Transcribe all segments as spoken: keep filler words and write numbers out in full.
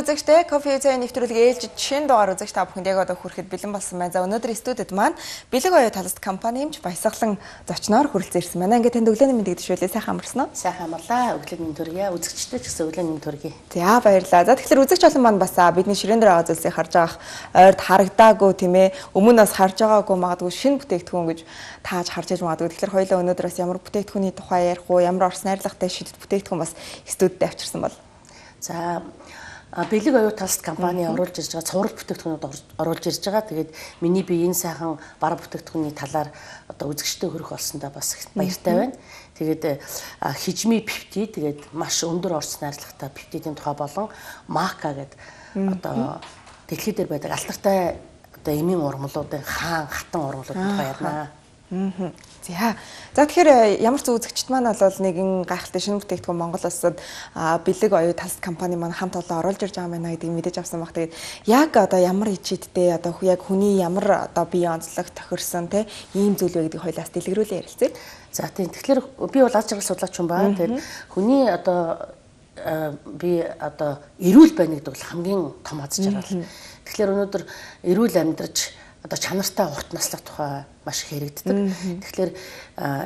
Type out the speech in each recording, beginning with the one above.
үзэгчтэй кофе цай нэвтрүүлгийн ээлжид шинэ дугаар үзэгч та бүхэнд яг одоо хүрэхэд бэлэн болсон байна. За өнөөдөр студид маань Бэлэг оюу талст компани эмч Баясгалан зочноор хүрэлцэн ирсэн байна. Ингээд танд өглөөний мэндийг төшөөлөө. Сайхан амарсан уу? Сайхан амарлаа. Өглөөний мэнд төргий. Үзэгчтэй ч гэсэн өглөөний мэнд төргий. За баярлалаа. За тэгэхээр үзэгч олон маань бас бидний ширээн дээр байгаа зүйлсийг харж байгаа ойрд харагдаагүй тийм ээ. Өмнө нас харж байгаагүй магадгүй шинэ бүтээгдэхүүн гэж тааж харж иж магадгүй. Тэгэхээр хоёулаа өнөөдөр бас ямар бүтээгдэхүүний тухай ярих уу, ямар орс найрлагатай шидэт бүтээгдэхүүн бас студид авчирсан бол. За Бэлэг оюу талст компани оруулж ирж байгаа цуврал бүтээгдэхүүнүүд оруулж ирж байгаа. Тэгээд миний би энэ сайхан бараг бүтээгдэхүүний талаар одоо үзэгчтэй хөрөх болсондоо бас их баяртай байна. Тэгээд хижми пептид тэгээд маш өндөр орц найрлагатай пептидийн тухай болон мака гэдэг одоо дэлхийд дээр байдаг алтартай одоо эмийн урмлуудын хаан хатан урмлуудын тухай ярина. Аа. За. За тэгэхээр ямар ч үзэгчд маань бол нэгэн гайхалтай шинэ бүтээгдэхүүн Монгол улсад Бэлэг оюу талст компани маань хамт олон оруулж ирж байгаа байна гэдгийг мэдэж авсан баг. Тэгээд яг одоо ямар ичидтэй одоо яг хүний ямар одоо бие онцлог тохирсон те ийм зүйл вэ гэдгийг хоёлаас дэлгэрүүлээ ярилцъя. За тийм. Тэгэхээр би бол аз жаргал судлаач юм байна. Тэгээд хүний одоо би одоо эрүүл байна гэдэг бол хамгийн том аз жаргал. Тэгэхээр өнөөдөр эрүүл амьдраж одоо чанартай урт наслах тухай маш их яригддаг. Тэгэхээр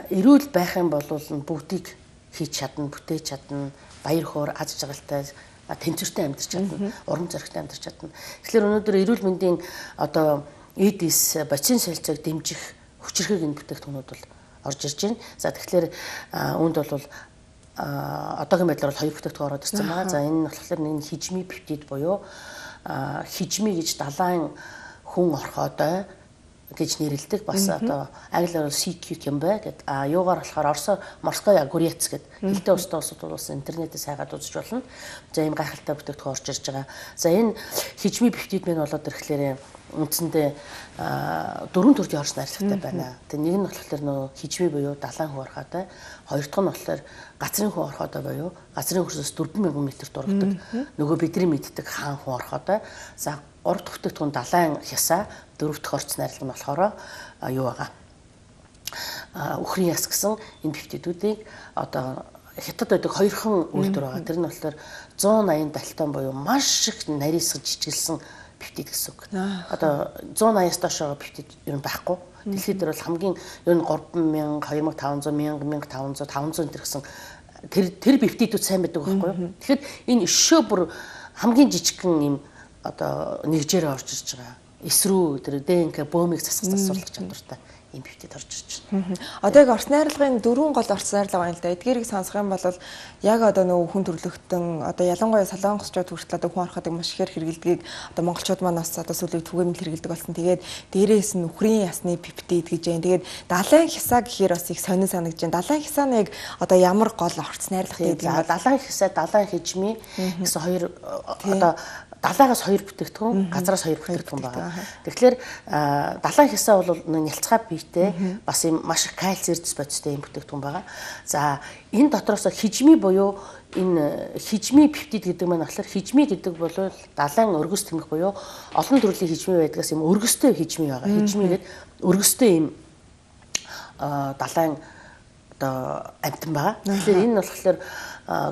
эрүүл байх юм бол бүгдийг хийж чадна, бүтээж чадна, баяр хөөр, аз жаргалтай, тэнцвэртэй амьдарч чадна, урам зоригтой амьдарч чадна. Тэгэхээр өнөөдөр эрүүл мэндийн одоо эдис бацин солилцоог дэмжих хүчирхэг энэ бүтээгдэхүүнүүд бол орж ирж байна. За тэгэхээр үүнд бол одоогийн байдлаар бол хоёр бүтээгдэхүүн ороод ирсэн байгаа. За энэ нь болохоор нэг хижми пептид буюу хижми гэж далайн хүн орхоодой гэж нэрлэдэг. Бас одоо англиар бол си кью юм бай гэдэг. А юугаар болохоор орсо морская огурец гэдэг. Хилтэй устай усуд бол интернетээс хайгаад үзэж болно. За ийм гайхалтай бүтээгдэхүүн орж ирж байгаа. За энэ хижми пептид мэн болоод ирэхлээр үндсэндээ дөрвөн төрлийн орс найрлагатай байна. Тэгээ нэг нь болохоор нөгөө хижми буюу далайн хүн орхоодой, хоёр дахь нь болохоор газрын хүн орхоодой буюу газрын хөрсөөс дөрвөн мянган метр дургадаг. Нөгөө бидний мэддэг хаан хүн орхоодой. За гурав дахь бүтээгдэхүүн далайн хясаа, дөрөв дэх орц найрлага нь болохоор юу байгаа? Үхрийн яс гэсэн энэ пептидүүдийг одоо хятад байдаг хоёрхан үйлдвэр байгаа. Тэр нь болохоор зуун аян далтон буюу маш их нарийсгаж жижиглсэн пептид гэсэн үг. Одоо зуун аяас доош байгаа пептид ер нь байхгүй. Дэлхийд дээр бол хамгийн ер нь гурван мянга, хоёр мың таван зуун, мянга, мянга таван зуун, таван зуун гэсэн тэр тэр пептидүүд сайн байдаг байхгүй юу? Тэгэхээр энэ өшөө бүр хамгийн жижигхэн юм одоо нэгжээр орж ирж байгаа. Эсрүү тэр ДНК бөөмийг засах засварлах чадвартай ийм пептид орж ирж байна. Одоо яг орц найрлагын дөрвөн гол орц найрлага байна л да. Эдгээрийг сонсох юм бол яг одоо нөгөө хүн төрлөختөн одоо ялангуяа солонгосчууд хүртэл одоо хүн орохыг маш ихээр хэрэгэлдгийг одоо монголчууд маань бас одоо сүүлийн түгээмэл хэрэгэлдэг болсон. Тэгээд дээрээс нь үхрийн ясны пептид гэж байна. Тэгээд далайн хисаа гэхээр бас их сонин санагдаж байна. Далайн хисааныг одоо ямар гол орц найрлага гэдэг юм бэ? Далайн хисаа, далайн хижми гэсэн хоёр одоо далаагаас хоёр бүтээгдэхүүн, газраас хоёр бүтээгдэхүүн байгаа. Тэгэхээр далайн хисаа бол нялцгай биетэй бас юм маш их кальци эрдэс бодистой юм бүтээгдэхүүн байгаа. За энэ дотроос хижми буюу энэ хижми пептид гэдэг маань болохоор хижми гэдэг бол далайн өргөс тэмэх буюу олон төрлийн хижми байдгаас юм өргөстэй хижми байгаа. Хижми гэдэг өргөстэй юм далайн одоо амтан байгаа. Тэгэхээр энэ нь болохоор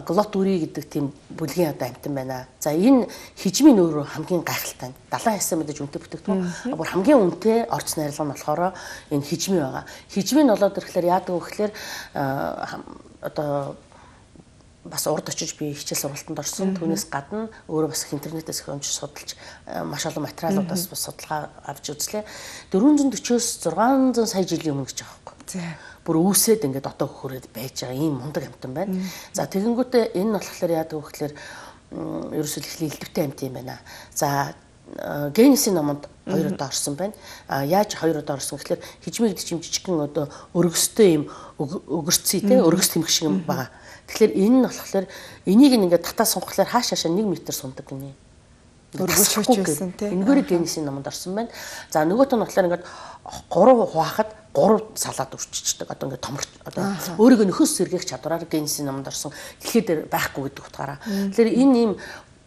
глот үри гэдэг тийм бүлгийн одоо амтан байна. За энэ хижмийн өөрөө хамгийн гайхалтай. Далайн хясаа мэдээж үнэтэй бүтээгдэхүүн. Бүр хамгийн үнэтэй орц найрлага нь болохоор энэ хижми байгаа. Хижми нь болоод ирэхлээр яадаг вэ гэхээр одоо бас урд очиж би хичээл сургалтанд орсон. Түүнээс гадна өөрөө бас интернетээс их уншиж судалж маш олон материалуудаас бас судалгаа авч үзлээ. дөрвөн зуун дөрвөөс зургаан зуун сая жилийн өмнө гэж байгаа байхгүй. Бүр үүсээд ингээд одоо хөрөөд байж байгаа ийм мундаг амтан байна. За тэгэнгүүтээ энэ нь болохоор яадаг вэ гэхээр ерөөсөө их элдвэтэй амт юм байна. За Генесийн номонд хоёр удаа орсон байна. А яаж хоёр удаа орсон гэхээр хижми гэдэг чим жижигхэн одоо өргөстэй юм өгөрцөй те өргөс тэмх шиг юм байгаа. Тэгэхээр энэ нь болохоор энийг ингээд татаа сунхлаар хааш хаашаа нэг метр сундаг гинэ. Өргөс хүчсэн те. Энэгээр Генесийн номонд орсон байна. За нөгөөт нь болохоор ингээд гурав хуваахад гурав салаад өрччихдэг. Одоо ингээд томорч одоо өөрийгөө нөхөс сэргээх чадвараар Генесийн номонд орсон дэлхийд дээр байхгүй гэдэг утгаараа. Тэгэхээр энэ ийм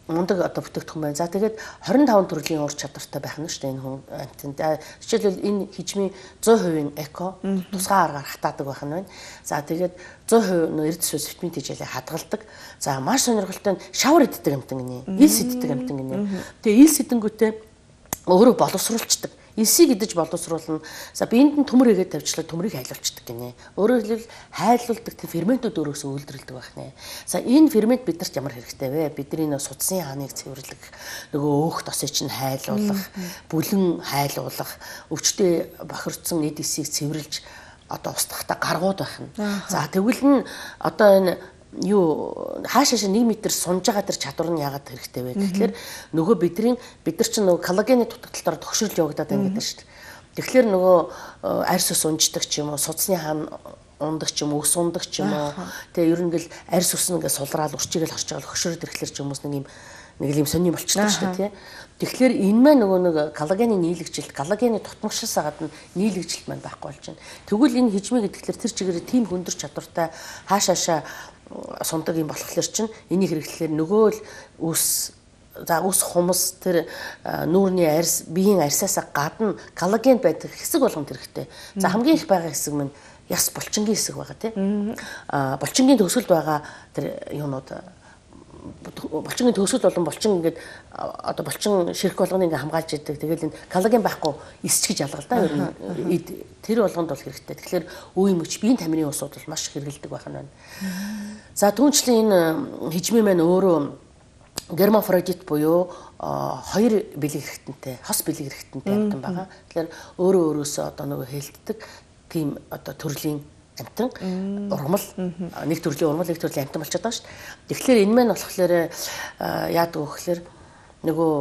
мундаг одоо бүтээгдэхүүн байна. За тэгээд двадцать пять төрлийн ур чадвартай байх нь шүү дээ энэ хүн амтнд. Жишээлбэл энэ хижмийн сто перцент эко тусгай аргаар хатаадаг байх нь байна. За тэгээд сто перцент эрдэс ус витамин тэжээлээ хадгалдаг. За маш сонирхолтой нь шавар иддэг амтан гинэ. Илс иддэг амтан гинэ. Тэгээ илс идэнгүүтээ өөрөө боловсруулцдаг. Илсийг идэж боловсруулна. За биеинд нь төмөр игээд тавьчлаа төмрийг хайлуулцдаг гинэ. Өөрөөр хэлбэл хайлуулдаг тийм ферментүүд өөрөөсөө үйлдвэрлэдэг байх нэ. За энэ фермент бидэрт ямар хэрэгтэй вэ? Бидний нөө судсын хааныг цэвэрлэх, нөгөө өөх тосыг чинь хайлуулах, бүлэн хайлуулах, өвчтөе бохирдсон эд эсийг цэвэрлж одоо устгахта гаргууд байх нь. За тэгвэл нь одоо энэ юу хаашаашаа нэг метр сунж байгаа тэр чадвар нь яагаад хэрэгтэй вэ гэхэлэр нөгөө бидний бид нар чинь нөгөө коллагены дутагдaltaар төгшрөл явагдаад байна гэдэг шүү дээ. Тэгэхээр нөгөө арьс ус унждаг ч юм уу, судасны хаан ундаг ч юм уу, ус ундаг ч юм уу. Тэгээ ер нь ингээл арьс ус нэгээ сулраал урчигээл харж байгаа хөшрөөд ирэхлээр ч юмс нэг юм нэг юм сонирм болчихдог шүү дээ тий. Тэгэхээр энэ маань нөгөө нэг коллагены нийлэгжилт, коллагены тутамгшаас гадна нийлэгжилт маань байхгүй болж байна. Тэгвэл энэ хижмээ гэдгээр тэр чигээр тийм хөндөр чадвартай хаашаашаа сундаг юм болохоор чинь энийг хэрэглэхээр нөгөө л ус за ус хумс тэр нүүрний арьс биеийн арьсаасаа гадна коллаген байдаг хэсэг болгонд хэрэгтэй. За хамгийн их байгаа хэсэг маань яс булчингийн хэсэг байгаа тийм. А булчингийн төгсгөлд байгаа тэр юунууд булчингийн төгсгөл болон булчин ингээд одоо булчин ширх болгоно ингээ хамгаалж идэг. Тэгэл энэ коллаген байхгүй эсч гэж ялгал да. Ер нь тэр болгонд бол хэрэгтэй. Тэгэхээр үе мөч биеийн тамирын усууд бол маш хэрэгэлдэг байх нь байна. За түүнчлэн энэ хижмээ маань өөрөө гермафродит буюу хоёр бэлэг хэрэгтэнтэй, хос бэлэг хэрэгтэнтэй амтан байгаа. Тэгэхээр өөрөө өөрөөсөө одоо нөгөө хэлтдэг тийм одоо төрлийн амтан ургамал нэг төрлийн ургамал нэг төрлийн амтан болчиход байгаа шүү дээ. Тэгэхээр энэ маань болохоор яадаг вэ гэхээр нөгөө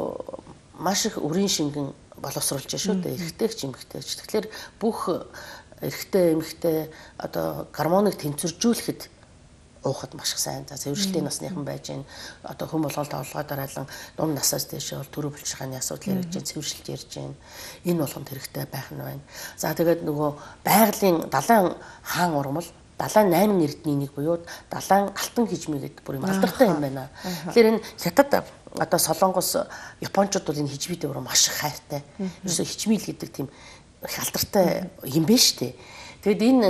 маш их үрийн шингэн боловсруулж шүү дээ. Эрэгтэй ч эмэгтэй ч. Тэгэхээр бүх эрэгтэй эмэгтэй одоо гормоныг тэнцвэржүүлэхэд уухад маш их сайн. За цэвэршлийн насныхан байж гэн одоо хүм болгоол тоглогоо дараалан дунд насаас дээш бол төрөө булчирхааны асуудал ярьж гэн цэвэршилж ярьж гэн энэ болгонд хэрэгтэй байх нь байна. За тэгээд нөгөө байгалийн далайн хаан ургамал далайн найман эрдний нэг буюу далайн алтан хижмээ гэдэг бүр юм алдартай юм байна. Тэгэхээр энэ хятад одоо Солонгос Япончууд бол энэ хижмээтэй бүр маш их хайртай. Ерөөсө хижмээл гэдэг тийм их алдартай юм байна шүү дээ. Тэгэд энэ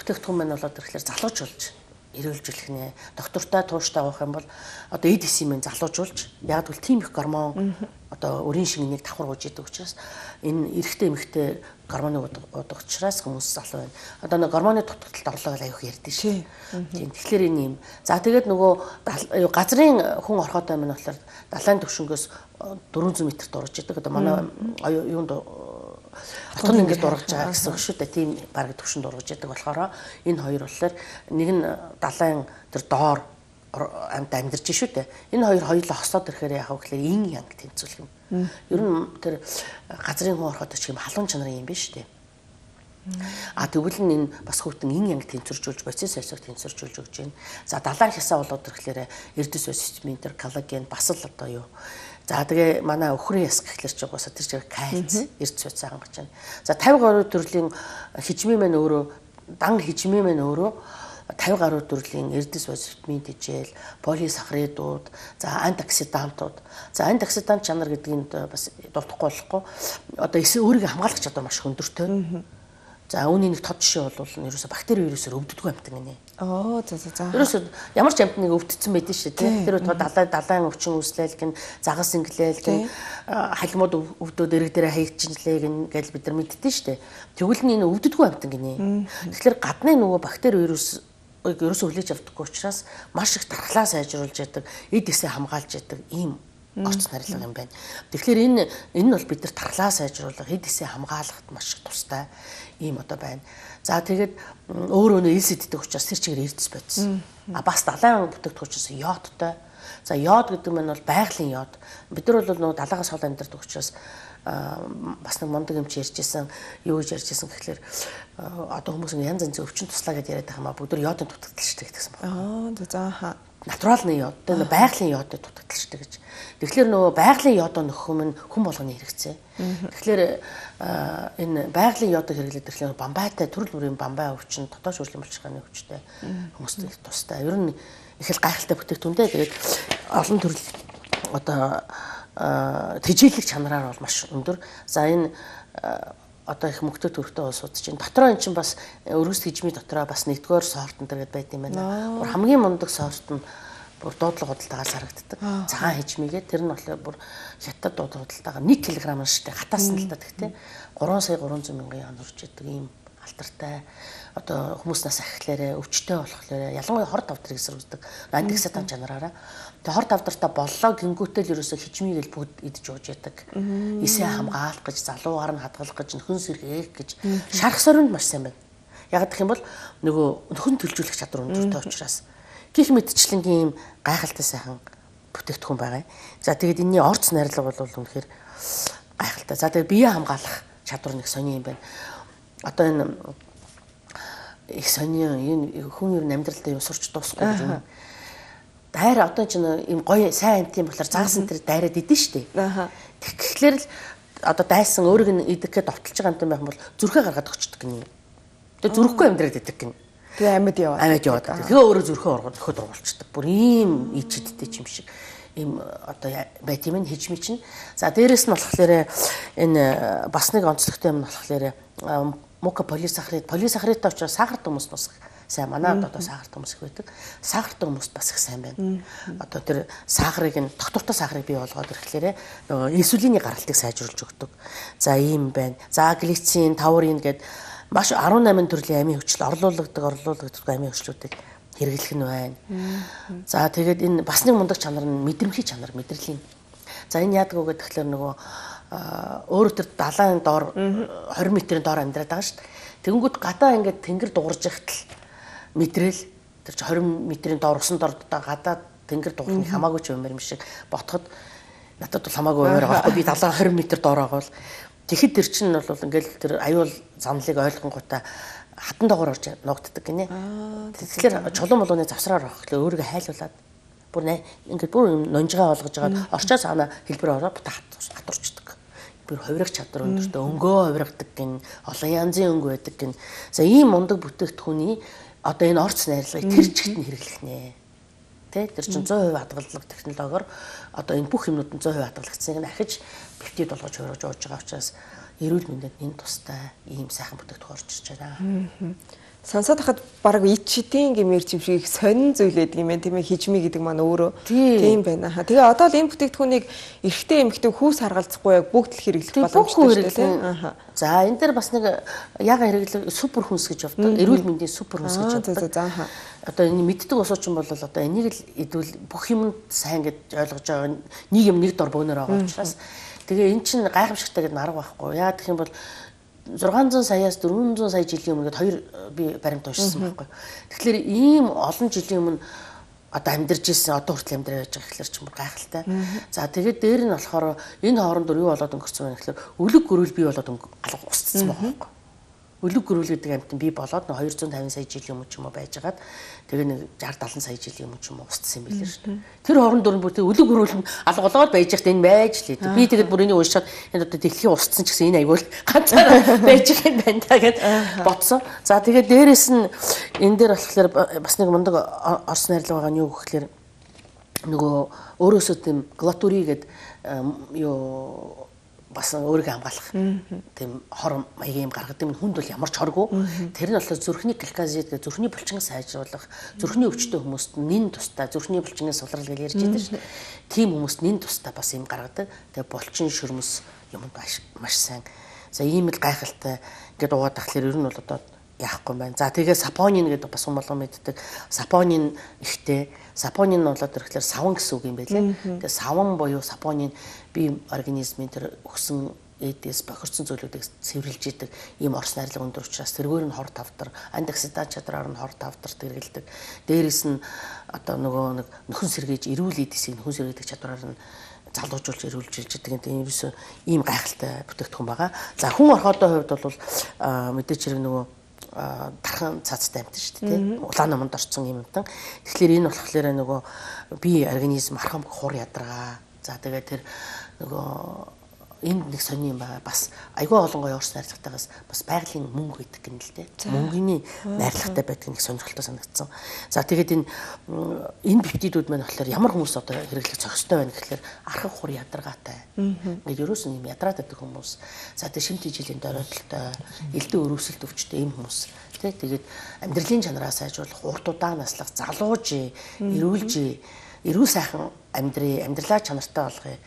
бүтээгдэхүүн маань болоод ирэхлээр залуучулж эрүүлжүүлэх нэ доктортой тууштай авах юм бол одоо эд эсийн мэн залуужуулж яг л тийм их гормон одоо өрийн шингэнийг давхар гуйж идэг учраас энэ эрэгтэй эмэгтэй гормоныг уудаг учраас хүмүүс залуу байна. Одоо нэг гормоны дутагдлалд орлоо гэж аяух ярьдээ шүү. Тийм тэгэхээр энэ юм. За тэгээд нөгөө газрын хүн орхотой маань болохоор далайн төвшнгөөс дөрвөн зуун метрт урж идэг. Одоо манай юунд Отон ингээд дургаж байгаа гэсэн үг шүү дээ. Тийм бараг төвшөнд дургаж яадаг болохоор энэ хоёр болохоор нэг нь далайн тэр доор амт амьдарч шүү дээ. Энэ хоёр хоёулаа хосоод ирэхээр яах вэ гэхээр ин янг тэнцвүүлэх юм. Ер нь тэр газрын хүн ороход ч юм халуун чанарын юм биш шүү дээ. А тэгвэл энэ бас хүүтэн ин янг тэнцвэржүүлж боцис сайсыг тэнцвэржүүлж өгч байна. За далайн хясаа болоод ирэхээр эрдэс ус витамин тэр коллаген бас л одоо юу. За тэгээ манай өхрийн яс гэхлээр ч угаасаа тэр чиг кальц эрдэс ус хангаж байна. За тавьд гаруй төрлийн хижмээ маань өөрөө дан хижмээ маань өөрөө тавьд гаруй төрлийн эрдэс ус витамин тэжээл, полисахаридууд, за антиоксидантууд. За антиоксидант чанар гэдгийг бас дуртахгүй болохгүй. Одоо эсээ өөрийгөө хамгаалах чадвар маш өндөртэй. За үүний нэг тод жишээ бол ерөөсө бактери вирусээр өвддөггүй амтан гинэ. Оо за за за. Ерөөсө ямар ч амтныг өвдсөн байдэн шүү дээ. Тэр одоо далай далайн өвчин үүслээл гин загас инглээл гин халимууд өвдөөд эрэг дээрээ хаягчинлээ гин гэж бид нар мэддэн шүү дээ. Тэгвэл нь энэ өвддөггүй амтан гинэ. Тэгэхээр гадны нөгөө бактери вирус ерөөсө хүлээж авдаггүй учраас маш их дархлаа сайжруулж яадаг, эд эсээ хамгаалж яадаг ийм орц нарилга юм байна. Тэгэхээр энэ энэ нь бол бид нар тархлаа сайжруулах, эд эсээ хамгаалахад маш их тустай ийм одоо байна. За тэгээд өөр өнөө илс иддэг учраас тэр чигээр эрдэс бодсон. А бас далайн бүтээгдэхүүн учраас йодтой. За йод гэдэг нь бол байгалийн йод. Бид нар бол нөгөө далаагаас хол амьдардаг учраас бас нэг мундаг юм чи ярьжсэн, юу гэж ярьжсэн гэхэлэр одоо хүмүүс янз янзын өвчин туслаа гэж яриад байгаа юм а бүгд йодын дутагдaltaй гэдэгсэн байна. Аа за хаа. Натуралны йод, тэгээ байгалийн йодод дутагдaltaй гэж. Тэгэхээр нөгөө байгалийн йодоо нөхөх нь хүн болгоны хэрэгцээ. Тэгэхээр энэ байгалийн йодыг хэрэглээд ирэхлээр бамбайтай төрөл бүрийн бамбай өвчин, дотоод шүүрлийн булчирхааны өвчтэй хүмүүст тустай. Ер нь их л гайхалтай бүтээгдэхүүнтэй. Тэгээд олон төрөл одоо тэжээлэх чанараар бол маш өндөр. За энэ одоо их мөнгөтэй төрхтэй улсууд чинь дотроо эн чинь бас өргөс хижмийн дотроо бас нэгдүгээр сорт энэ төргээд байд юм байна. Бүр хамгийн мундаг сорт нь бүр дуудлага худалдаагаар зарагддаг. Цагаан хижмигээ тэр нь болохоор бүр хятад дуудлага худалдаагаар нэг килограмм штэ хатаас нь л та тэгтээ гурван сая гурван зуун мянган yen урж идэг ийм алтартай. Одоо хүмүүс нас ахихлаарэ өвчтэй болохоор ялангуяа хор давдрыг эсрэгдэг антиксидант чанараараа тэгээ хор давдртаа боллоо гингүүтэл ерөөсө хичмийгэл бүгд идэж ууж яадаг. Эсээ хамгаалах гэж залуугаар нь хадгалах гэж нөхөн сэргээх гэж шарх сорьнд маш сайн байна. Яг гэх юм бол нөгөө нөхөн төлжүүлэх чадвар өндөртэй учраас гих мэдчлэнгийн ийм гайхалтай сайхан бүтээгдэхүүн байгаа. За тэгээд энэний орц найрлага бол үнэхээр гайхалтай. За тэгээд бие хамгаалах чадвар нэг сони юм байна. Одоо энэ их сони энэ хүн ер нь амьдралдаа юм сурч дуусахгүй юм. Дайр одоо ч юм гоё сайн амт юм болохоор заасан тэр дайраад идэн штэ. Тэгэхээр л одоо дайсан өөрийг нь идэх гээд довтолж байгаа юм байх юм бол зүрхээ гаргаад өгчдөг гинэ. Тэгээ зүрхгүй амьдраад идэх гинэ. Тэгээ амьд яваад. Амьд яваад. Тэгээ өөрөө зүрхээ оргоод өхөд ургуулчихдаг. Бүр ийм ичидтэй юм шиг ийм одоо байт юм хижми чинь. За дээрэс нь болохоор энэ бас нэг онцлогтой юм нь болохоор мука полисахарид полисахаридтай учраас сахартай хүмүүс бас сайн манай одоо сахартай хүмүүс их байдаг. Сахартай хүмүүс бас их сайн байна. Одоо тэр сахарыг нь доктортой сахарыг бий болгоод ирэхлээрээ нөгөө инсулиний гаралтыг сайжруулж өгдөг. За ийм байна. За глицин, таурин гэдэг маш арван намын төрлийн амийн хүчил орлуулдаг, орлуулдаг амийн хүчлүүдийг хэрэглэх нь байна. За тэгээд энэ бас нэг мундаг чанар нь мэдрэмхий чанар, мэдрэлийн. За энэ яадаг вэ гэхээр нөгөө өөрөө тэр далайн доор двадцать метрийн доор амьдраад байгаа шүү дээ. Тэгэнгүүт гадаа ингээд тэнгэр дуурж ихтэл мэдрэл тэр чинь двадцать метрийн доор усан дор гадаа тэнгэр дуурах нь хамаагүй ч юмэр юм шиг ботход надад бол хамаагүй юмэр байгаа байхгүй би далайн двадцать метр доор байгаа бол тэгэхэд тэр чинь бол ингээд тэр аюул замлыг ойлгонгуудаа хатан доогоор орж ногддаг гинэ. Тэгэхээр чулуун молооны завсраар авахлаа өөрийгөө хайлуулад бүр ингээд бүр нонжгаа болгож байгаа орчоо цаана хэлбэр ороо бута хатурчдаг. Бүр хувирах чадвар өндөртэй өнгөө хувиргадаг гин олон янзын өнгө байдаг гин. За ийм мундаг бүтээгдэхүүний одоо энэ орц найрлагыг тэр чигт нь хэрэглэх нэ. Тэ тэр чинь сто процент хадгалах технологиор одоо энэ бүх юмнууд нь сто процент хадгалагдсаныг нь ахиж пептид болгож хувирж ууж байгаа учраас эрүүл мэндэд энэ тустай ийм сайхан бүтээгдэхүүн орж ирж байна. Сонсоод хахад баг ичтийн гэмээр юм шиг сонин зүйл байдаг юм байна тийм ээ хижми гэдэг маань өөрөө тийм байна. Тэгээ одоо л энэ бүтээгдэхүүнийг эрэгтэй эмэгтэй хүүс харгалзахгүй яг бүгд л хэрэглэх боломжтой тийм. За энэ дээр бас нэг яга хэрэглэх супер хүнс гэж явдаг. Эрүүл мэндийн супер хүнс гэж явдаг. Одоо энэ мэддэг усуучин бол одоо энийг л идвэл бүх юмд сайн гэж ойлгож байгаа нэг юм нэг дор бөөнөр байгаа учраас тэгээ эн чинь гайхамшигтай гэдэг нарга байхгүй. Яа гэх юм бол зургаан зуун саяас дөрвөн зуун сая жилийн өмнө хоёр би баримт уншсан байхгүй. Тэгэхээр ийм олон жилийн өмнө одоо амьдарч ирсэн одоо хүртэл амьдраа байж байгаа гэхэлэр ч юм гайхалтай. За тэгээд дээр нь болохоор энэ хоорондор юу болоод өнгөрсөн вэ гэхэлэр өлөг гөрүүл бий болоод алга устсан байгаа байхгүй. Өлөг гөрүүл гэдэг амьтан бий болоод нэг двести пять сая жилийн өмнө ч юм уу байжгаад тэгээ нэг шестьдесят севен сая жилийн өмнө ч юм уу устсан юм билээ шүү дээ. Тэр хоорондор нь бүр тэг өлөг гөрүүл нь алга болоод байж байхад энэ байж л дээ. Би тэгээд бүр энийг уншаад энэ одоо дэлхийн устсан ч гэсэн энэ аягүй ганцаараа байж байгаа юм байна та гэд бодсон. За тэгээд дээрэс нь энэ дээр болохоор бас нэг мундаг орс найрлага байгаа нь юу гэхээр нөгөө өөрөөсөө тийм глатури гэдэг юу бас өөрийгөө хамгаалах тийм хор маягийн гаргадаг юм хүнд бол ямар ч хоргүй тэр нь болохоор зүрхний гликозид гэх зүрхний булчинг сайжруулах зүрхний өвчтөй хүмүүст нин тустай зүрхний булчингийн сулрал гэж ярьж байдаг шүү дээ. Тийм хүмүүст нин тустай бас юм гаргадаг. Тэгээ булчин шөрмөс юмд маш сайн. За ийм л гайхалтай ингээд уугаад тахлаар ер нь бол одоо яахгүй байна. За тэгээ сапонин гэдэг бас хүн болгон мэддэг. Сапонин ихтэй. Сапонин нь болоод ирэхлээр саван гэсэн үг юм байлээ. Тэгээ саван буюу сапонин бие организмын тэр өгсөн эдээс бохирдсон зүйлүүдийг цэвэрлж идэг ийм орс найрлага өндөр учраас тэргээр нь хор тавдар, антиоксидант чадраар нь хор тавдарт хэрэгэлдэг. Дээрээс нь одоо нөгөө нэг нөхөн сэргээж эрүүл эдисийг нөхөн сэргээдэг чадраар нь залуужуулж эрүүлж идэг гэдэг юм ерөөсөө ийм гайхалтай бүтээгдэхүүн байгаа. За хүн орхоодоо хувьд бол мэдээч хэрэг нөгөө тархан цацтай амт шүү дээ тийм улаан номонд орсон юм амтан. Тэгэхээр энэ болохоор нөгөө бие организм архам хур ядаргаа. За тэгээд тэр нөгөө энд нэг сони юм байна. Бас айгүй олон гоё уурс найрлагатайгаас бас байгалийн мөнгө гэдэг юм л дээ. Мөнгөний найрлагатай байдаг нэг сонирхолтой санагдсан. За тэгээд энэ энэ пептидүүд маань болохоор ямар хүмүүс одоо хэрэглэх зохистой байна гэхэлэр архаг хур ядаргаатай. Ингээд ерөөс нь юм ядраад байдаг хүмүүс. За тэгээд шимт жилийн дөрөлтөлтэй, элдэн өрөвсөлт өвчтэй ийм хүмүүс. Тэгээд амьдралын чанараа сайжруулах, урт удаан наслах, залууж, эрүүлж, эрүүл сайхан амьдрий, амьдралаа чанартай болгоё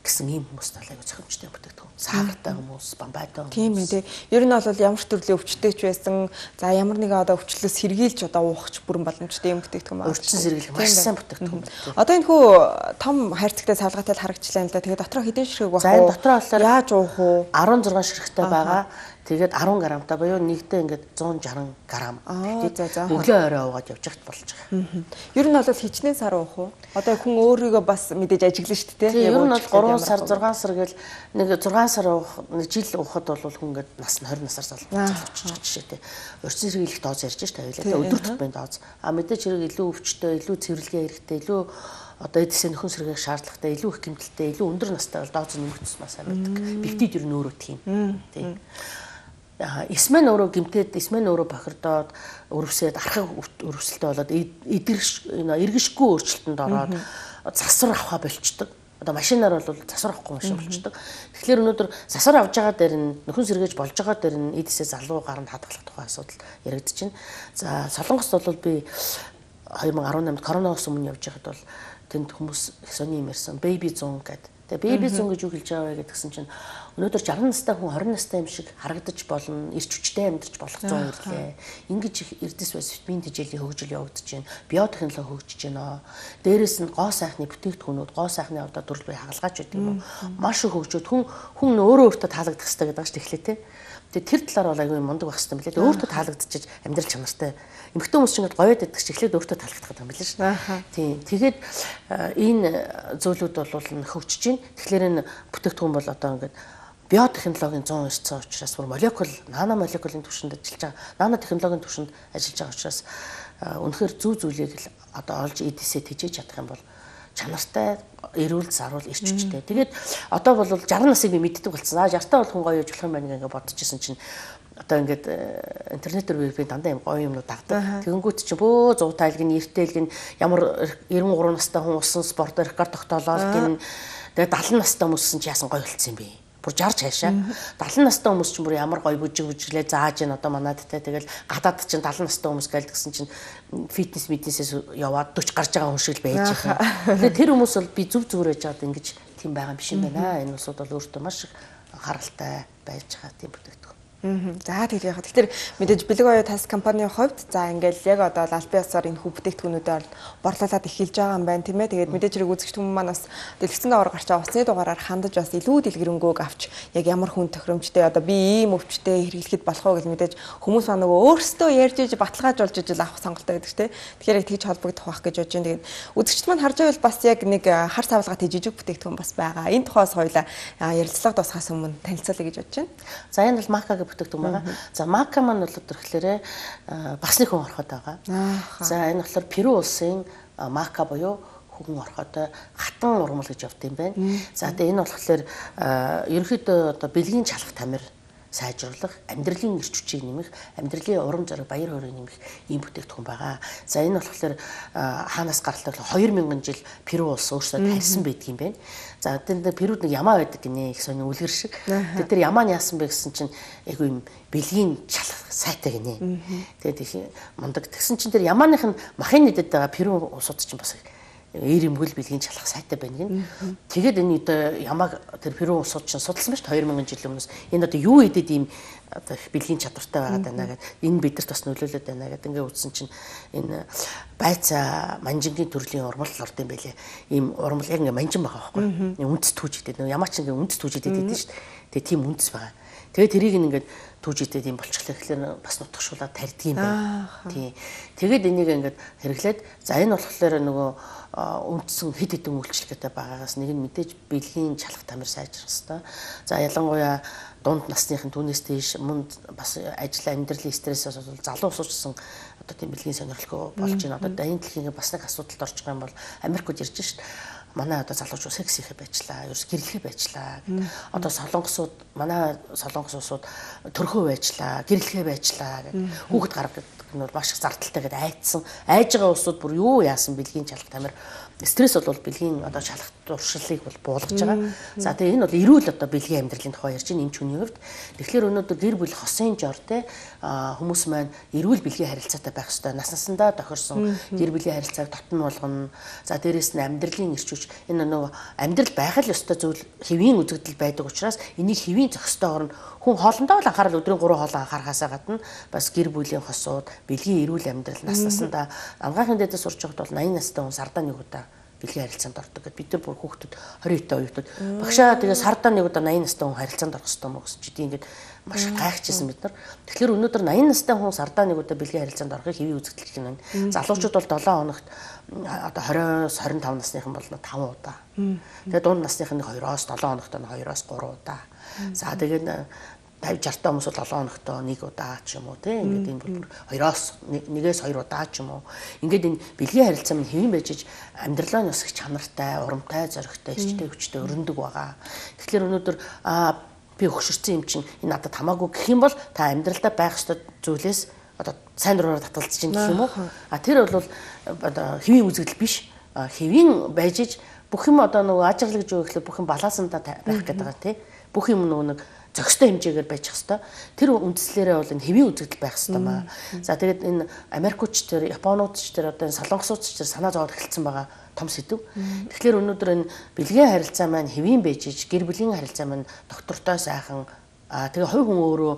гэсэн ийм хүмүүс талайг зохимжтой бүтээгдэхүүн. Саартай хүмүүс, бамбайтай хүмүүс. Тийм ээ. Ер нь бол ямар ч төрлийн өвчтэй ч байсан, за ямар нэгэн одоо өвчлөөс сэргийлж одоо уухч бүрэн боломжтой юм бүтээгдэхүүн байна. Өвчин сэргийлэх маш сайн бүтээгдэхүүн. Одоо энэ хүү том хайрцагтай салгаатай л харагчлаа л да. Тэгээд дотроо хэдэн ширхэг байх вэ? За энэ дотроо болохоор яаж уух вэ? арван зургаан ширхэгтэй байгаа. Тэгээд арван грамтай буюу нэгдээ ингээд зуун жарган грамм. Тэгээд өглөө орой уугаад явж хат болж байгаа. Ер нь бол хичнээн сар уух уу? Одоо хүн өөрийгөө бас мэдээж ажиглана шүү дээ. Тийм ер нь бол гурван сар зургаан сар гэл нэг зургаан сар уух нэг жил уухад бол хүн ингээд нас нь двадцать насаар залууччих жишээтэй. Урьдчилан сэргийлэх дооз ярьж штэ хоёлаа. Өдөр тутмын дооз. А мэдээж хэрэг илүү өвчтөй, илүү цэвэрлэгээ хэрэгтэй, илүү одоо эдсээ нөхөн сэргээх шаардлагатай, илүү их гэмтэлтэй, илүү өндөр настай бол дооз нэмэгдсэн маш сайн байдаг. Пептид ер нь өөрөө тийм. Тийм. Эсмэн өөрөө гимтээд, эсмэн өөрөө бохирдоод, өрөвсөд, архаг өрөвсөлтөй болоод эдгэрш эргэшгүй өөрчлөлтөнд ороод засвар авахаа болчдөг. Одоо машинаар бол засвар авахгүй машин болчдөг. Тэгэхээр өнөөдөр засвар авж байгаа дээр нь нөхөн сэргээж болж байгаа дээр нь эдсээ залуу гаранд хадгалах тухай асуудал яригдчихэв. За Солонгост бол би two thousand eighteen коронавирус өмнө явж байхад бол тэнд хүмүүс сони юм ярьсан. Baby зун гэдэг. Тэгээ baby зун гэж юу хэлж байгаа вэ гэдгсэн чинь өнөөдөр sixty настай хүн twenty настай юм шиг харагдаж болно, эрч хүчтэй амьдарч болох зун ирлээ. Ингэж эрдэс бас витамин тэжээлийн хөгжил явагдаж байна. Биотехнологи хөгжиж байна. Дээрээс нь гоо сайхны бүтээгдэхүүнүүд, гоо сайхны одоо төрөл бай хагалгач байдаг юм уу? Маш их хөгжөөд хүн хүн өөрөө өөртөө таалагдах хэрэгтэй гэдэг чинь эхлээ те. Тэгээ тэр талаар бол аягүй мундаг байх хэрэгтэй мөлий. Өөртөө таалагдчихж амьдрал чанартай. Эмэгтэй хүмүүс ч ингээд гоёд байдаг ч эхлээд өөртөө таалагдах гэдэг юм билээ шүү. Тийм. Тэгээд энэ зүйлүүд бол хөгжиж байна. Тэгэхээр энэ бүтээгдэхүүн бол одоо ингээд биотехнологийн one hundred ирсэн учраас бүр молекул, нано молекулын түвшинд ажиллаж байгаа. Нано технологийн түвшинд ажиллаж байгаа учраас үнэхээр зүү зүйлийг л одоо олж эдисээ тэжээж чадах юм бол чанартай, эрүүл, зарвал, эрч хүчтэй. Тэгээд одоо бол sixty насыг би мэддэг болсон. А sixty-тай бол хүн гоё явж болох юм байна гэж бодчихсон чинь одоо ингээд интернетээр би дандаа юм гоё юмнууд дагдаг. Тэгэнгүүт чи бөө one hundred тайлг нь эртэлг нь ямар ninety-three настай хүн усан спорт рекорд тогтоолоод гин тэгээд seventy настай хүмүүссэн чи яасан гоё болцсон юм бэ? Бүр sixty цаашаа. seventy настай хүмүүс ч бүр ямар гоё бүжиг бүжиглээ зааж ийн одоо манайдтай тэгэл гадаад чинь seventy настай хүмүүс гээл гэсэн чинь фитнес мэднэсээс яваад forty гарч байгаа хүн шиг л байж байгаа. Тэгэхээр тэр хүмүүс бол би зүв зүгээр байж байгаад ингэж тийм байгаа юм биш юм байна. Энэ улсууд бол өөртөө маш их анхааралтай байж байгаа тийм бүтээгдэхүүн. За тэгээд яхаа. Тэгэхээр мэдээж бэлэг оюу тас компанийн хувьд за ингээл яг одоо албан ёсоор энэ хүү бүтээгдэхүүнүүдээр борлуулаад эхэлж байгаа юм байна тийм ээ. Тэгээд мэдээж хэрэг үзэгч хүмүүс маань бас дэлгэцэн доогоор гарч байгаа усны дугаараар хандаж бас илүү дэлгэрэнгүй авч яг ямар хүн тохиромжтой одоо би ийм өвчтэй хэрэглэхэд болох уу гэж мэдээж хүмүүс маань нөгөө өөрсдөө ярьж иж баталгаажуулж иж авах сонголттой байдаг тийм. Тэгэхээр яг тэгж холбогдох байх гэж бодож байна. Тэгээд үзэгч маань харж байвал бас яг нэг хар савлгаатай жижиг бүтээгдэхүүн бас байгаа. Энэ тухайс хоёлаа ярилцлага дуусахаас өмнө танилцуулъя гэж бодож байна. За энэ бол Мака бүтээгдэхүүн байгаа. За Мака маань бол төрхлөөрэ бас нэг хүн ороход байгаа. За энэ болохоор Перу улсын Мака буюу хүн ороход хатан урмал гэж явд юм байна. За тэгээ энэ болохоор ерөнхийдөө одоо бэлгийн чалах тамир сайжруулах, амьдралын эрч хүчийг нэмэх, амьдралын урам зориг, баяр хөөргийг нэмэх ийм бүтээгдэхүүн байгаа. За энэ болохоор хаанаас гарлаа two thousand жил Перу улс өөрсдөө тарьсан байдаг юм байна. За тэнд Перуд нэг ямаа байдаг гинэ их сони үлгэр шиг. Тэгээд тэр ямаа нь яасан бэ гэсэн чинь айгүй юм бэлгийн чалах сайтай гинэ. Тэгээд их мундаг. Тэгсэн чинь тэр ямааных нь махын нэдэд байгаа Перу улсууд чинь бас ээр юмгөл бэлгийн чалах сайтай байна гин. Тэгээд энэ одоо ямааг тэр Перу улсууд чинь судалсан байж two thousand жил өмнөөс энэ одоо юу идэд ийм одоо бэлгийн чадвартай байгаад байна гэдэг. Энэ бидэрт бас нөлөөлөд байна гэдэг. Ингээ үзсэн чинь энэ байцаа манжингийн төрлийн урмал орд юм байлээ. Ийм урмал яг ингээ манжин байгаа байхгүй. Үндэс түүж идэв. Ямаа ч ингээ үндэс түүж идэв гэдэг шүү дээ. Тэгээ тийм үндэс байгаа. Тэгээ тэрийг ингээд түүж идэв юм болчихлоо гэхэлэр бас нутгшуулаад тарьдаг юм байна. Тий. Тэгээд энийг ингээд хэрэглээд за энэ болохоор нөгөө үндсэн хэд хэдэн үйлчлэгтэй байгаагаас нэг нь мэдээж бэлгийн чалах тамир сайжрах хэрэгтэй. За ялангуяа дунд насныхын түүнээс тийш мөн бас ажил амьдралын стрессээс бол залуу усуучсан одоо тийм бэлгийн сонирхолтой болж байна. Одоо энэ дэлхийн бас нэг асуудалд орж байгаа юм бол Америкт ирж шít. манай одоо залуучууд секс хийхэ байжлаа, ерөөс гэрлэхэ байжлаа. Одоо солонгосууд манай солонгосууд төрхөө байжлаа, гэрлэхэ байжлаа гэх хүүхэд гаргадаг нь бол маш их зардалтай гэдээ айдсан. Айж байгаа улсууд бүр юу яасан бэлгийн чалгалт амир стресс бол бэлгийн одоо шалгалт туршилтыг бол буулгаж байгаа. За тэгээ энэ бол эрүүл одоо бэлгийн амьдралын тухай ярьж байна эмч хүний хувьд. Тэгэхээр өнөөдөр гэр бүл хосын жор те хүмүүс маань эрүүл бэлгийн харилцаатай байх ёстой. Нас насандаа тохирсон гэр бүлийн харилцааг дотн болгоно. За дээрэс нь амьдралын эрч хүч энэ нөгөө амьдрал байх л ёстой зүйл хэвийн үзэгдэл байдаг учраас энийг хэвийн зохистойгоор нь хүн хоолндоо л анхаарал өдрийн гурван хоолоо анхаарахаасаа гадна бас гэр бүлийн хосууд бэлгийн эрүүл амьдрал нас насандаа амгаахын дэдэ сурч байхад бол восемь настай хүн сардаа нэг удаа бэлгийн харилцаанд ордог гэдэг. Бид нар бүр хүүхдүүд двадцать той оюутнууд багшаа тэгээ сардаа нэг удаа восемь настай хүн харилцаанд орох хэрэгтэй мó гэсэн чи тийм ингээд маш гайхажсэн бид нар. Тэгэхээр өнөөдөр восемь настай хүн сардаа нэг удаа бэлгийн харилцаанд орохыг хэвийн үзэгдэл гэх юм байна. Залуучууд бол seven хоногт одоо twenty-тwenty-five насныхан бол five удаа. Тэгээ дунд насных нь two-оос seven хоногт нь two-оос three удаа. За тэгээд fifty sixty та хүмүүс бол seven хоногт нэг удаа ч юм уу тийм ингээд энэ бол two-оос one-ээс two удаа ч юм уу. Ингээд энэ бэлгийн харилцаа минь хэвэн байж иж амьдралаа нь бас их чанартай, урамтай, зоригтой, эрчтэй, хүчтэй өрнөдөг байгаа. Тэгэхээр өнөөдөр аа би өгшөрсөн юм чинь энэ надад хамаагүй гэх юм бол та амьдралдаа байх ёстой зүйлээс одоо сайн дураараа татгалзаж чинь гэх юм уу? А тэр бол одоо хэвийн үзэгдэл биш. Хэвийн байж иж бүх юм одоо нөгөө ажиглал гэж юу гэхлээр бүх юм балансандаа байх гэдэг байгаа тийм. Бүх юм нөгөө нэг зохистой хэмжээгээр байж хэвээр. Тэр үндслээрээ бол энэ хэвийн үзэгдэл байх хэвээр маа. За тэгээд энэ Америкч тэр, Японууд ч тэр одоо энэ солонгосууд ч тэр санаа зовоод эхэлсэн байгаа том сэдв. Тэгэхээр өнөөдөр энэ бэлгийн харилцаа маань хэвийн байж иж гэр бүлийн харилцаа маань доктортой сайхан аа тэгээ хувь хүн өөрөө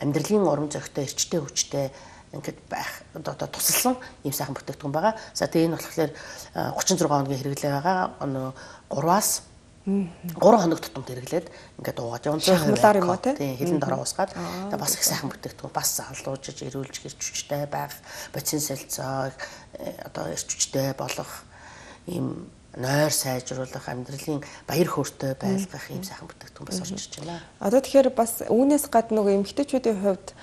амьдралын урам зоригтой, эрчтэй, хүчтэй ингээд байх одоо тусалсан ийм сайхан бүтээгдэхүүн байгаа. За тэгээ энэ болохоор thirty-six хоногийн хэрэглээ байгаа. Өнөө three-аас three хоног тутамд хэрэглээд ингээд уугаад явна. Шахмалаар юм уу те? Тийм, хилэн дороо уусгаад тэгээ бас их сайхан бүтээгдэхүүн бас залуужиж эрүүлж гэрч хүчтэй байх, бодис солилцоо одоо эрч хүчтэй болох ийм нойр сайжруулах, амьдралын баяр хөөртэй байлгах ийм сайхан бүтээгдэхүүн бас орж ирж байна. Одоо тэгэхээр бас үүнээс гадна нөгөө эмэгтэйчүүдийн хувьд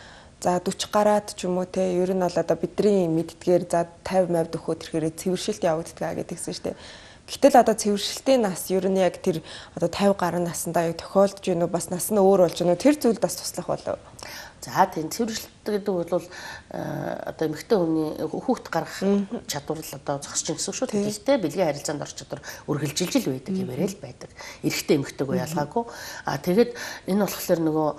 за forty гараад ч юм уу те ер нь бол одоо бидний мэддгээр за fifty fifty дөхөө тэрхээрээ цэвэршилт явагддаг гэдэгсэн шүү дээ. Гэтэл одоо цэвэршилтийн нас ер нь яг тэр одоо fifty гаруй наснда яг тохиолдож гинөө бас нас нь өөр болж гинөө тэр зүйл бас туслах болов. За тийм цэвэршилт гэдэг бол одоо эмэгтэй хүний хүүхд гаргах чадвар л одоо зогсож ин гэсэн шүү дээ. Гэхдээ бэлгийн харилцаанд орч чадвар үргэлжилж л байдаг хэмээрээ л байдаг. Эрэгтэй эмэгтэйгөө ялгаагүй. А тэгээд энэ болохоор нөгөө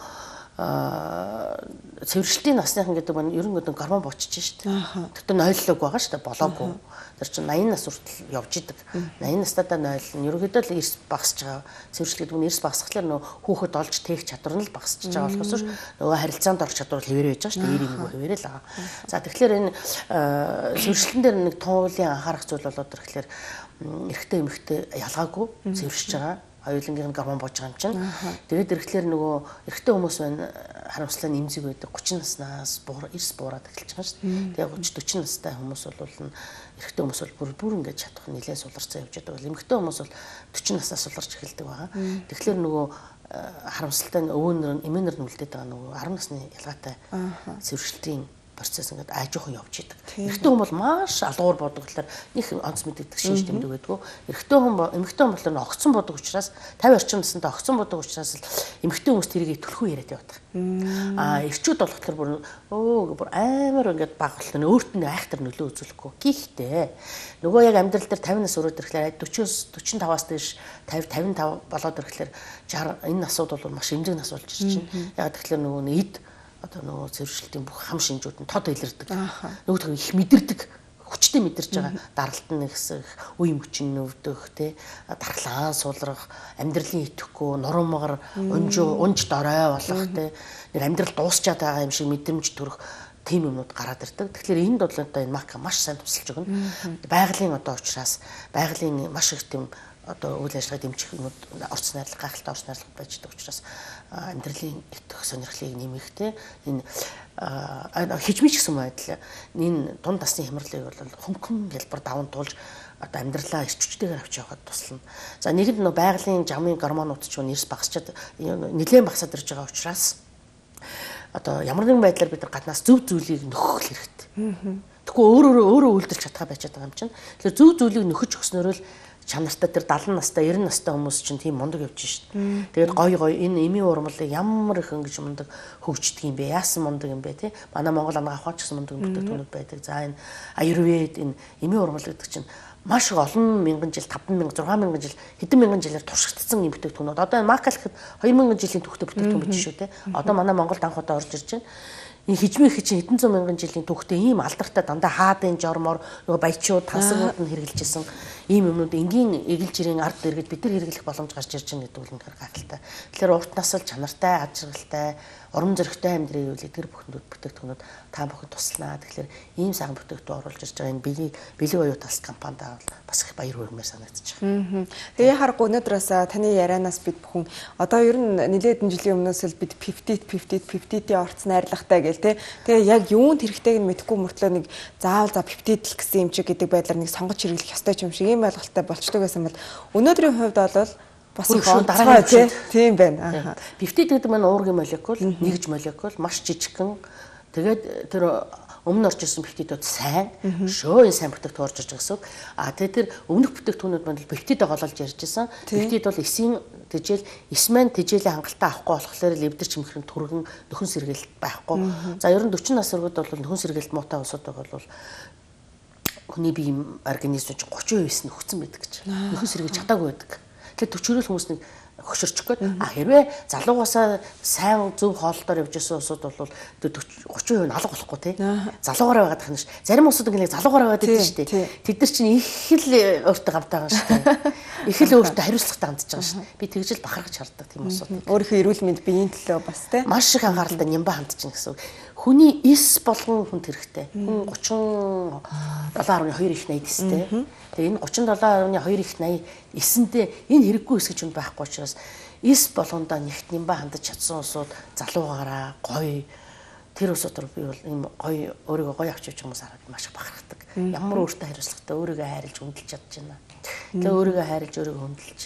цэвэршилтийн насныхан гэдэг нь ер нь гэдэг гормон буучиж шүү дээ. Тэгтээ нойллог байгаа шүү дээ, болоогүй. Тэр чинь ninety нас хүртэл явж идэг. ninety настайдаа нойлно. Ерөнхийдөө л эрс багасж байгаа. Цэвэршил гэдэг нь эрс багасхлаар нөө хүүхэд олж тээх чадвар нь л багасж байгаа болохоос нөгөө харилцаанд орох чадвар л хэвээр байж байгаа шүү дээ. Эрийн нөгөө хэвээрээ л байгаа. За тэгэхээр энэ цэвэршилтэн дээр нэг туулын анхаарах зүйл болоод ирэхлээр эрэгтэй эмэгтэй ялгаагүй цэвэршиж байгаа. Хоёулынгийн гормон бууж байгаа юм чинь. Тэгээд ирэхлээр нөгөө эрэгтэй хүмүүс байна харамслаа нэмзэг байдаг thirty наснаас буур эрс буураад эхэлж байгаа шүү дээ. Тэгээд thirty forty настай хүмүүс бол эрэгтэй хүмүүс бол бүр бүр ингэж чадах нэлээд суларцсан явж байгаа. Эмэгтэй хүмүүс бол forty наснаас суларч эхэлдэг байгаа. Тэгэхээр нөгөө харамсалтай өвөнөр эмээнэр нь үлдээд байгаа нөгөө ten насны ялгаатай цэвэршилтийн процесс ингээд аажуухан явж идэг. Эрэгтэй хүн бол маш алгуур бодог болохоор их онц мэддэг шинж тэмдэг байдгүй. Эрэгтэй хүн эмэгтэй хүн болохоор огцон бодог учраас fifty орчим наснда огцон бодог учраас л эмэгтэй хүмүүс тэрийг төлхөө яриад явдаг. Аа эрчүүд болохоор бүр өө бүр амар ингээд баг болтоо өөрт нь айхтар нөлөө үзүүлэхгүй. Гэхдээ нөгөө яг амьдрал дээр fifty нас өрөөд ирэхлээр forty-four forty-five-аас дээш fifty fifty-five болоод ирэхлээр sixty энэ насууд бол маш эмзэг нас болж ирж байна. Яг тэгэхээр нөгөө эд одоо нөгөө цэвэршилтийн бүх хам шинжүүд нь тод илэрдэг. Нөгөө их мэдэрдэг, хүчтэй мэдэрч байгаа. Даралт нь ихсэх, үе мөчин нөвдөх, тэ дархлаан сулрах, амьдралын итгэхгүй, нурмагар, унжуу, унж дорой болох, тэ нэг амьдрал дуусчаад байгаа юм шиг мэдрэмж төрөх тийм юмнууд гараад ирдэг. Тэгэхээр энд бол одоо энэ мака маш сайн тусалж өгнө. Байгалийн одоо учраас байгалийн маш их тийм одоо үйл ажиллагаа дэмжих юмуд орц найрлага, гайхалтай орц найрлага байж байгаа учраас амьдралын итгэх сонирхлыг нэмэхтэй энэ хижмич гэсэн байдал энэ дунд насны хямралыг бол хөнгөн хэлбэр даван туулж одоо амьдралаа эрч хүчтэйгээр авч явахад туслана. За нэгэнд нөө байгалийн жамын гормонууд ч нэрс багасчаад нэлээд багасаад ирж байгаа учраас одоо ямар нэгэн байдлаар бид нар гаднаас зөв зүйлийг нөхөх хэрэгтэй. Тэгэхгүй өөр өөр өөрөө үйлдэлж чадхаа байж байгаа юм чинь. Тэгэхээр зөв зүйлийг нөхөж өгснөөр л чанартай тэр даалан настай эрдэнэ настай хүмүүс чинь тийм мундаг явж шин. Тэгээд гой гой энэ эмийн урмалыг ямар их ингэж мундаг хөгждөг юм бэ? Яасан мундаг юм бэ те? Манай Монгол ангаа авахч гэсэн мундаг бүтээгдэхүүнүүд байдаг. За энэ аюрвед энэ эмийн урмал гэдэг чинь маш их олон мянган жил, таван мянга, зургаан мянган жил, хэдэн мянган жилээр туршигдсан юм бүтээгдэхүүнүүд. Одоо энэ макал гэхэд хоёр мянган жилийн түүхтэй бүтээгдэхүүн биш шүү те. Одоо манай Монголд анх удаа орж ирж байна. Энэ хижмээ хичээ хэдэн зуун мянган жилийн түүхтэй ийм алдартай дандаа хаадын жормоор нөгөө баячууд тансагууд нь хэрэгжилжсэн ийм юмнууд энгийн эгэлж ирийн ард иргэд бид нар хэрэглэх боломж гарч ирж байгаа гэдэг нь үнэхээр гайхалтай. Тэгэхээр урт насал чанартай, аж аргалтай, урам зоригтой амьдрын үйл эдгэр бүхнүүд бүтээгдэхүүнүүд та бүхэн туслана. Тэгэхээр ийм сайхан бүтээгдэхүүн оруулж ирж байгаа энэ бэлэг бэлэг оюу тас компанид бас их баяр хүрмээр санагдаж байна. Тэгээ харахгүй өнөөдөр бас таны ярианаас бид бүхэн одоо ер нь нэлээд жилийн өмнөөс л бид пятьдесят пятьдесят пятьдесят-ийн орц найрлагатай гэл те. Тэгээ яг юунд хэрэгтэйг нь мэдэхгүй мөртлөө нэг заавал за пятьдесят л гэсэн юм шиг гэдэг байдлаар нэг сонгож хэрэглэх ёстой юм шиг ийм ойлголттой болчдөг байсан бол өнөөдрийн хувьд бол бас их онцгой тийм байна. пятьдесят гэдэг маань уургийн молекул, нэгж молекул маш жижигхэн. Тэгээд тэр өмнө орж ирсэн пептидууд сайн, шөө энэ сайн бүтээгдэхүүн орж ирж байгаа гэсэн. А тэгээд тэр өмнөх бүтээгдэхүүнүүд маань пептидээ гололж ярьж байсан. Пептид бол эсийн тэжээл, эс маань тэжээлийн хангалттай авахгүй болохоор л эвдэр чимхрэн түргэн нөхөн сэргээлт байхгүй. За ер нь дөрвөн нас өргөд бол нөхөн сэргээлт муутай усууд бол хүний бие организм чинь тридцать percent нөхцөн байдаг гэж. Нөхөн сэргээж чадаагүй байдаг. Тэгэхээр төчөрөл хүмүүс нэг хөшөрчих гээд а хэрвээ залуугасаа сайн зөв хооллолтоор явж исэн усуд бол тридцать percent алга болохгүй тий. Залуугаараа байгаад тахна ш. Зарим усуд ингээл залуугаараа байгаад байдаг шүү дээ. Тэд нар чинь их л өөртөө гамтай байгаа шүү дээ. Их л өөртөө хариуцлагатай хандж байгаа шүү. Би тэгжэл бахархаж хардаг тийм усуд. Өөрийнхөө эрүүл мэнд биеийн төлөө бас тий. Маш их анхааралтай нямба хандж байна гэсэн. Хүний эс болгон хүнд хэрэгтэй. Хүн тридцать seven point two их найд эстэй. Тэгээ энэ тридцать seven point two их найд эсэндээ энэ хэрэггүй эс гэж юм байхгүй учраас эс болгондоо нэгт нямба хандаж чадсан усууд залуугаараа гоё тэр усууд руу би бол ийм гоё өөрийгөө гоё авч явж хүмүүс хараад маш их бахархдаг. Ямар өөртөө хариуцлагатай өөрийгөө хайрлж хүндэлж чадж байна. Тэгээ өөрийгөө хайрлж өөрийгөө хүндэлж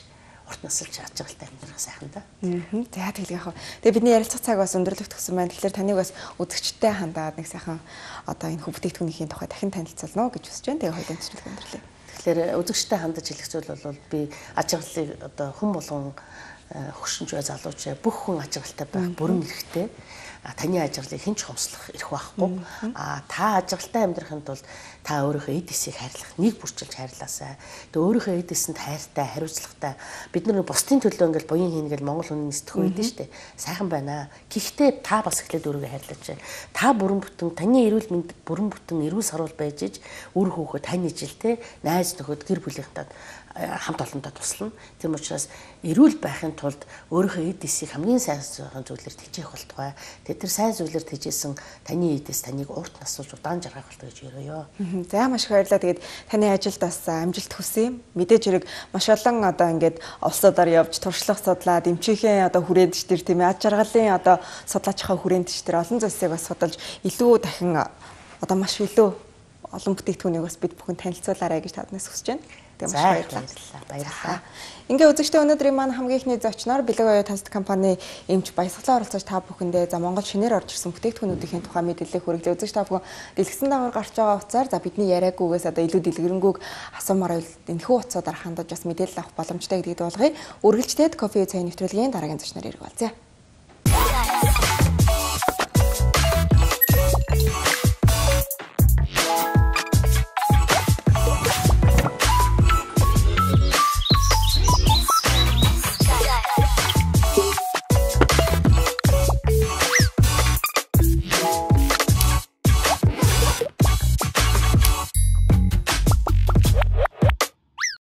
урт насалж аж аргалтай амьдрах сайхан да. За тэгэл яах вэ? Тэгээ бидний ярилцах цаг бас өндөрлөгдөх гэсэн байна. Тэгэхээр таныг бас үзэгчтэй хандаад нэг сайхан одоо энэ бүтээгдэхүүнийхээ тухай дахин танилцуулна гэж хүсэж байна. Тэгээ хоёулаа нэвтрүүлэг өндөрлөе. Тэгэхээр үзэгчтэй хандаж хэлэх зүйл бол би аж аргалыг одоо хүн болгон хөгшинч бай залууч бүх хүн аж аргалтай байх бүрэн эрхтэй. Таны аж аргалыг хэн ч хомслох эрх байхгүй. А та аж аргалтай амьдрахын тулд та өөрийнхөө эд эсийг хайрлах, нэг бүрчилж хайрлаасай. Тэгээ өөрийнхөө эд эсэнд хайртай, хариуцлагатай. Бид нар бусдын төлөө ингээл буян хийнгээл Монгол хүний сэтгэх үйдэн штэ. Сайхан байна. Гэхдээ та бас эхлээд өөрийгөө хайрлаач. Та бүрэн бүтэн таны эрүүл мэнд бүрэн бүтэн эрүүл сарвал байж иж үр хөөхөө таны жилтэй найз нөхөд гэр бүлийнхэнтэй хамт олонтой туслана. Тийм учраас эрүүл байхын тулд өөрийнхөө эд эсийг хамгийн сайн зүйлээр тэжээх болтугай. Тэгээд тэр сайн зүйлээр тэжээсэн таны эдээс таныг урт насуулж удаан жаргах болтугай гэж өрөөё. За маш их баярлалаа. Тэгээд таны ажилд бас амжилт хүсье. Мэдээж хэрэг маш олон одоо ингээд улсуудаар явж туршлага судлаад эмчийнхээ одоо хүрээндч төр тийм ээ аж аргалын одоо судлаачхаа хүрээндч төр олон зүйлсийг бас судалж илүү дахин одоо маш илүү олон бүтээгдэхүүнийг бас бид бүхэн танилцуулаарай гэж таднаас хүсэж байна. Тэгээ маш баярлалаа. Баярлалаа. Ингээ үзэгчтэй өнөөдрийн маань хамгийн ихний зочноор Бэлэг оюу таст компани эмч баясгалан оролцож та бүхэндээ за Монгол шинээр орж ирсэн бүтээгдэхүүнүүдийн тухай мэдээлэл хүргэлээ. Үзэгч та бүхэн дэлгэсэн дагавар гарч байгаа утсаар за бидний яриагүйгээс одоо илүү дэлгэрэнгүй асуумаар энэхүү утсуудаар хандаж бас мэдээлэл авах боломжтой гэдгийг болгоё. Үргэлжлээд кофе цай нэвтрүүлгийн дараагийн зочноор ирэх болзъя.